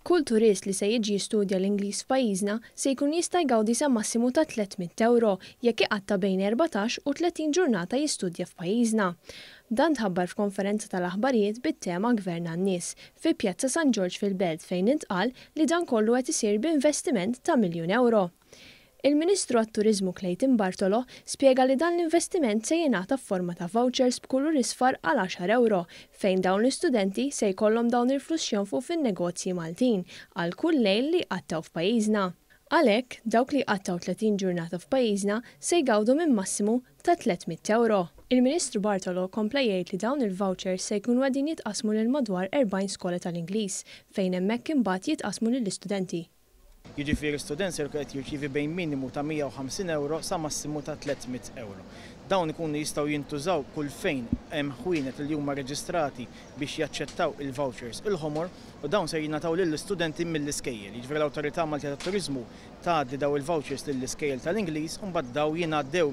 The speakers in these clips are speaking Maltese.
Kull turist li se jiġi jistudja l-Ingliż f'pajjiżna se jkun jista' jgawdi sa massimu ta' 300 ewro jekk iqatta' bejn 14 u 30 ġurnata jistudja f'pajjiżna. Dan tħabbar f'konferenza tal-aħbarijiet bit-tema Gvern għan-Nies fi Pjazza San Ġorġ fil-Belt fejn intqal li dan kollu qed isir b'investiment ta' miljun ewro. Il-Ministru għat-Turiżmu Clayton Bartolo spjega li dan l-investiment se jingħata f'forma ta' vouchers b'kulur isfar għal għaxar ewro fejn dawn l-istudenti se jkollhom dawn il-flus x'jonfqu fin-negozji Maltin għal kull lejl li jqattgħu f'pajjiżna. Għalhekk, dawk li jqattgħu 30 ġurnata f'pajjiżna se jgawdu minn massimu ta' 300 ewro. Il-Ministru Bartolo kompla jgħid li dawn il-vouchers se jkunu qegħdin jitqassmu lil madwar 40 skola tal-Ingliż fejn hemmhekk imbagħad jitqassmu lill-istudenti. Jiġifieri student ser jkun qed jirċievi bejn minimu ta' 150 ewro sa massimu ta' 300 ewro. Dawn ikunu jistgħu jintużaw kull fejn hemm ħwienet li huma reġistrati biex jaċċettaw il-vouchers il-ħomor u dawn ser jingħataw lill-istudenti mill-iskejjel. Jiġifieri l-Awtorità Maltija tat-Turiżmu tgħaddi daw il-vouchers lill-iskejjel tal-Ingliż u mbagħad daw jingħaddew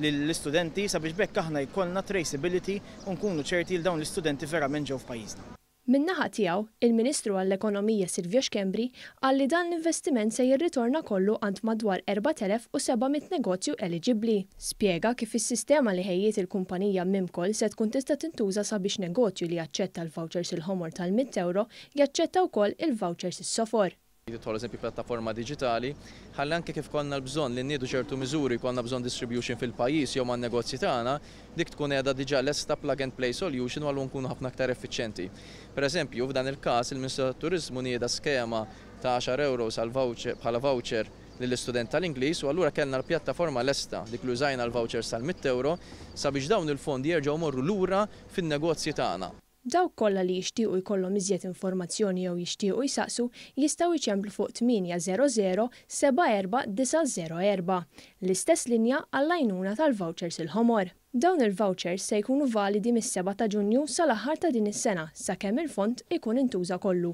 lill-istudenti sabiex b'hekk aħna jkollna traceability u nkunu ċerti li dawn l-istudenti verament ġew f'pajjiżna. Min-naħa tiegħu, il-Ministru għall-Ekonomija Silvio Schembri qal li dan l-investiment se jirritorna kollu għand madwar 4,700 negozju eliġibbli. Spjega kif is-sistema li ħejjiet il-kumpanija Mimcol se tkun tista' tintuża sabiex negozju li jaċċetta l-vouchers il-ħomor tal-100 ewro jaċċetta wkoll il-vouchers is-sofor. Tidħol eżempju pjattaforma diġitali, ħalli anke kif konna l-bżonn li nniedu ċertu miżuri, konna bżonn distribution fil-pajjiż jew man-negozji tagħna, dik tkun qiegħda diġà lesta plug and play solution u allura nkunu ħafna aktar effiċjenti. Per eżempju, f'dan il-każ il-Ministru tat-Turiżmu nieda skema ta' 10 euros għal voucher bħala voucher lill-istudent tal-Ingliż u allura kellna l-pjattaforma lesta dik li użajna l-vouchers tal-100 euro sabiex dawn il-fondi jerġgħu morru lura fin-negozji tagħna. Dawk kollha li jixtiequ jkollhom iżjed informazzjoni jew jixtiequ jsaqsu jistgħu jċemplu fuq 800 74904, l-istess linja għall-għajnuna tal-vouchers il-ħomor. Dawn il-vouchers se jkunu validi mis-7 ta' Ġunju sal-aħħar ta' din is-sena sakemm il-fond ikun intuża kollu.